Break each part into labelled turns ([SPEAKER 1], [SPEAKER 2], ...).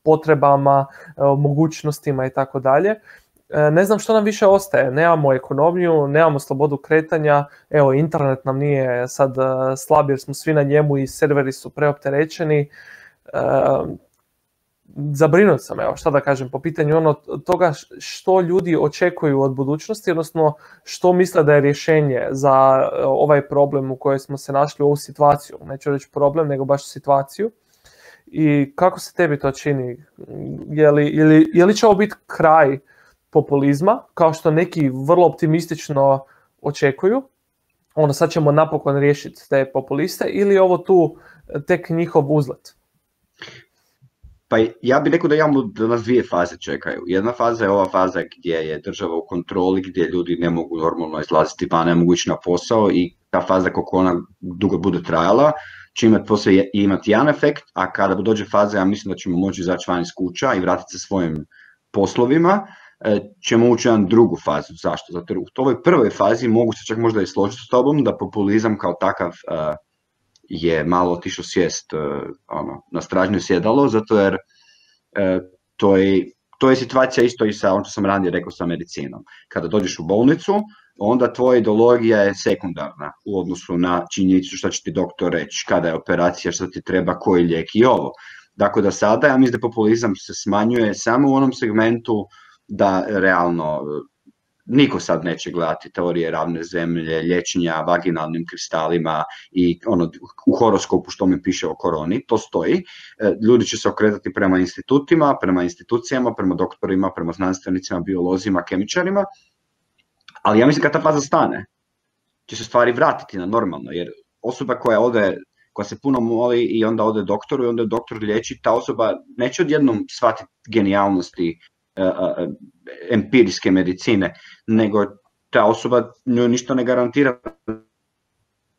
[SPEAKER 1] potrebama, mogućnostima i tako dalje. Ne znam što nam više ostaje, nemamo ekonomiju, nemamo slobodu kretanja, evo internet nam nije sad slab jer smo svi na njemu i serveri su preopterećeni. Zabrinut sam, evo šta da kažem, po pitanju toga što ljudi očekuju od budućnosti, odnosno što misle da je rješenje za ovaj problem u kojoj smo se našli, u ovu situaciju, neću reći problem, nego baš situaciju. I kako se tebi to čini? Je li će ovo biti kraj populizma, kao što neki vrlo optimistično očekuju, sad ćemo napokon riješiti te populiste, ili je ovo tu tek njihov uzlet?
[SPEAKER 2] Pa ja bih rekao da nas dvije faze čekaju. Jedna faza je ova faza gdje je država u kontroli, gdje ljudi ne mogu normalno izlaziti van, ne mogu ići na posao, i ta faza kako ona dugo bude trajala će imati jedan efekt, a kada dođe faza, ja mislim da ćemo moći izaći van iz kuća i vratiti se svojim poslovima, ćemo ući u jednu drugu fazu. Zašto? Zato u ovoj prvoj fazi mogu se čak možda i složiti s tobom da populizam kao takav je malo otišao sjest na stražnje sjedalo, zato jer to je situacija isto i sa ono što sam ranije rekao sa medicinom. Kada dođeš u bolnicu, onda tvoja ideologija je sekundarna u odnosu na činjenicu što će ti doktor reći, kada je operacija, što ti treba, koji lijek i ovo. Dakle, da sada, ja mislim da populizam se smanjuje samo u onom segmentu da realno niko sad neće gledati teorije ravne zemlje, liječenja vaginalnim kristalima i u horoskopu što mi piše o koroni, to stoji. Ljudi će se okretati prema institutima, prema institucijama, prema doktorima, prema znanstvenicima, biolozima, kemičarima, ali ja mislim kad ta faza stane, će se stvari vratiti na normalno, jer osoba koja se puno moli i onda ode doktoru i onda doktor liječi, ta osoba neće odjednom shvatiti genijalnosti empirijske medicine, nego ta osoba njoj ništa ne garantira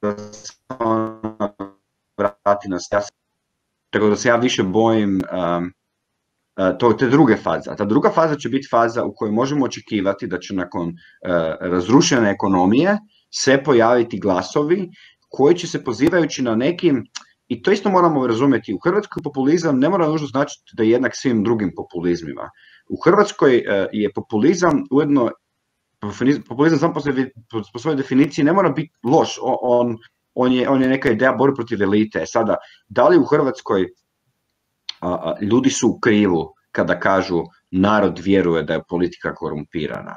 [SPEAKER 2] da se ona vrati na stas. Tako da se ja više bojim te druge faze. A ta druga faza će biti faza u kojoj možemo očekivati da će nakon razrušene ekonomije se pojaviti glasovi koji će se pozivajući na nekim, i to isto moramo razumjeti, u Hrvatskoj populizam ne mora nužno značiti da je jednak svim drugim populizmima. U Hrvatskoj je populizam ujedno, populizam sam po svojoj definiciji ne mora biti loš, on je neka ideja borbe protiv elite. Sada, da li u Hrvatskoj ljudi su u krivu kada kažu narod vjeruje da je politika korumpirana?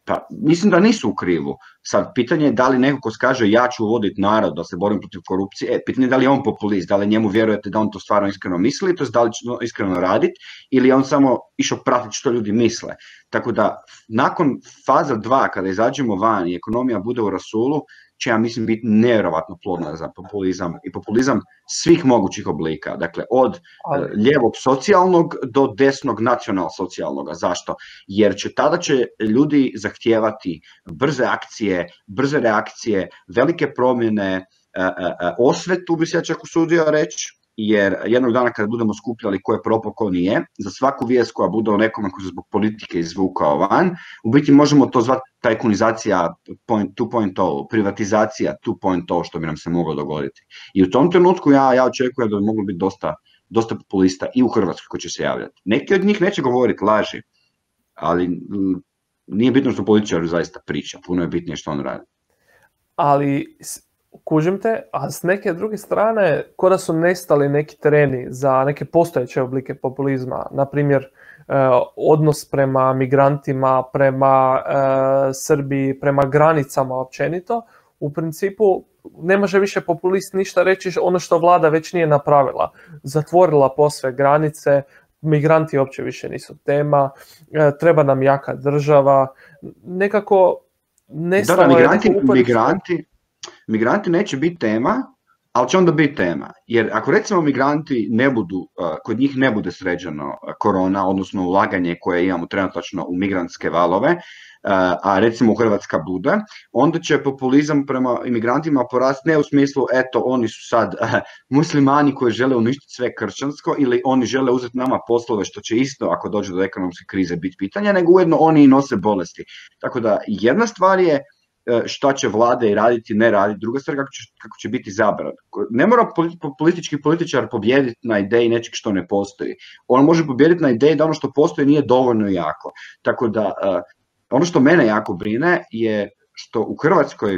[SPEAKER 2] Pa mislim da nisu u krivu. Sad, pitanje je da li neko ko kaže ja ću voditi narod da se borim protiv korupcije, pitanje je da li je on populist, da li njemu vjerujete da on to stvarno iskreno misli, to je da li će iskreno raditi, ili je on samo išao pratiti što ljudi misle. Tako da, nakon faza 2, kada izađemo van i ekonomija bude u rasulu, će, ja mislim, biti nevjerovatno plodna za populizam i populizam svih mogućih oblika. Dakle, od lijevog socijalnog do desnog nacional-socijalnog. Zašto? Jer tada će ljudi zahtijevati brze akcije, brze reakcije, velike promjene, osvetu bi se ja čak usudio reći, jer jednog dana kada budemo skupljali ko je propao, ko nije, za svaku vijest koja bude o nekome koji se zbog politike izvukao van, u biti možemo to zvati tajkunizacija 2.0, privatizacija 2.0, što bi nam se moglo dogoditi. I u tom trenutku ja očekujem da bi moglo biti dosta populista i u Hrvatskoj koji će se javljati. Neki od njih neće govoriti laži, ali nije bitno što političar zaista priča, puno je bitnije što on radi.
[SPEAKER 1] Ali kužim te, a s neke druge strane, ko da su nestali neki tereni za neke postojeće oblike populizma, na primjer odnos prema migrantima, prema Srbiji, prema granicama općenito, u principu ne može više populist ništa reći ono što vlada već nije napravila. Zatvorila posve granice, migranti uopće više nisu tema, treba nam jaka država, nekako nestalo je neko uporište.
[SPEAKER 2] Migranti neće biti tema, ali će onda biti tema. Jer ako recimo migranti ne budu, kod njih ne bude sređeno korona, odnosno ulaganje koje imamo trenutačno u migrantske valove, a recimo Hrvatska bude, onda će populizam prema imigrantima porasti ne u smislu eto oni su sad muslimani koji žele uništiti sve kršćansko ili oni žele uzeti nama poslove, što će isto ako dođe do ekonomske krize biti pitanja, nego ujedno oni i nose bolesti. Tako da jedna stvar je šta će vlade i raditi, ne raditi, druga stvar kako će biti zabran. Ne mora politički političar pobijediti na ideji nečeg što ne postoji. On može pobijediti na ideji da ono što postoji nije dovoljno jako. Tako da, ono što mene jako brine je što u Hrvatskoj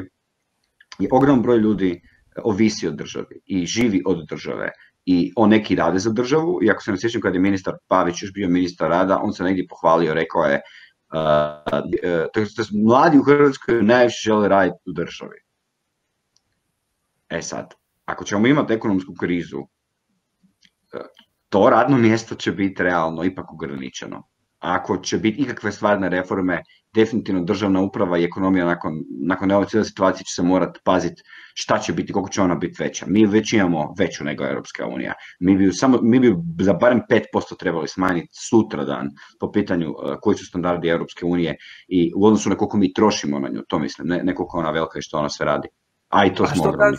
[SPEAKER 2] je ogroman broj ljudi ovisi od državi i živi od države. I on neki rade za državu, i ako se ne sjećam kad je ministar Pavić još bio ministar rada, on se negdje pohvalio, rekao je mladi u Hrvatskoj najviše žele raditi u državi. Sad, ako ćemo imati ekonomsku krizu, to radno mjesto će biti realno ipak ograničeno. Ako će biti ikakve stvarne reforme, definitivno državna uprava i ekonomija nakon ove cijele situacije će se morati paziti šta će biti, koliko će ona biti veća. Mi već imamo veću nego Europska unija. Mi bi za barem 5% trebali smanjiti sutradan po pitanju koji su standardi Europske unije i u odnosu na koliko mi trošimo na nju, to mislim, ne koliko ona velika i što ona sve radi. A i to smo ogromni.